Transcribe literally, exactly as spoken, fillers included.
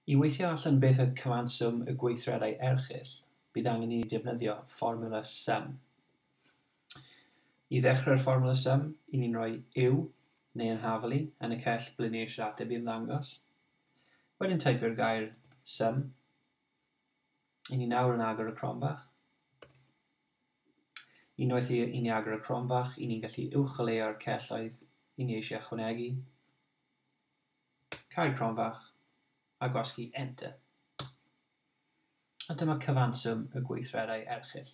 I weithio allan beth oedd cyfanswm y gweithredau erchyll, bydd angen i ni defnyddio fformiwla sum. I ddechrau'r fformiwla sum, i ni'n rhoi yw neu yn hafelu yn y cell ble ni eisiau'r ateb i ymddangos. Wedyn teipio'r gair sum. I ni nawr yn agor y cromfach. Unwaith i, i ni agor y cromfach, i ni'n gallu uwcholeuo'r celloedd i ni eisiau ychwanegu. Cau'r cromfach a gwasgu Enter. A dyma cyfanswm y gweithredau erchyll.